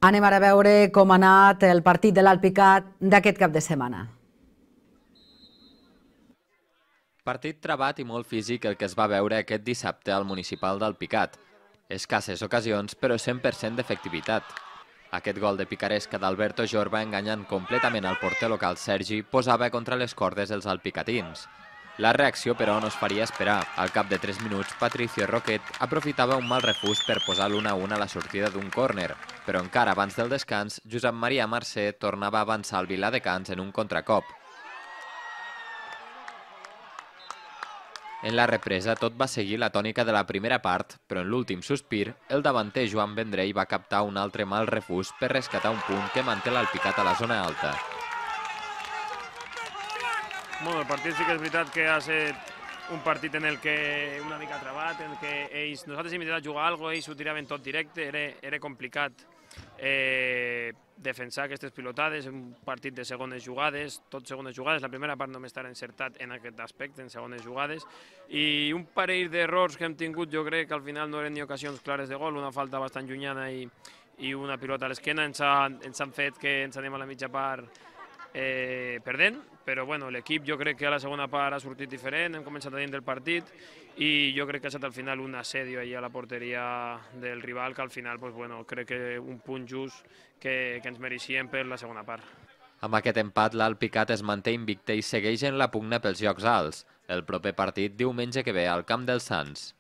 Anem ara a veure com ha anat el partit de l'Alpicat d'aquest cap de setmana. Partit trabat i molt físic el que es va veure aquest dissabte al municipal d'Alpicat. Escasses ocasions, però 100% d'efectivitat. Aquest gol de picaresca d'Alberto Jorba, enganyant completament al porter local Sergi, posava contra les cordes els alpicatins. La reacció, però, no es faria esperar. Al cap de 3 minuts, Patricio Roquet aprofitava un mal refús per posar l'1-1 a la sortida d'un córner. Però encara abans del descans, Josep Maria Mercè tornava a avançar al Viladecans en un contracop. En la represa tot va seguir la tònica de la primera part, però en l'últim sospir, el davanter Joan Vendrell va captar un altre mal refús per rescatar un punt que manté l'Alpicat a la zona alta. Bueno, el partit sí que és veritat que ha estat un partit en el que una mica trabat, en el que nosaltres hem intentat jugar alguna cosa, ells ho tiraven tot directe, era complicat defensar aquestes pilotades, un partit de segones jugades, tot segones jugades, la primera part només estarà encertat en aquest aspecte, en segones jugades, i un parell d'errors que hem tingut, jo crec que al final no eren ni ocasions clares de gol, una falta bastant llunyana i una pilota a l'esquena, ens han fet que ens anem a la mitja part perdent, però bueno, l'equip jo crec que a la segona part ha sortit diferent, hem començat a dins del partit i jo crec que ha estat al final un assedio allà a la porteria del rival que al final pues, bueno, crec que un punt just que ens mereixíem per la segona part. Amb aquest empat, l'Alpicat es manté invicte i segueix en la pugna pels llocs alts. El proper partit diumenge que ve al Camp dels Sants.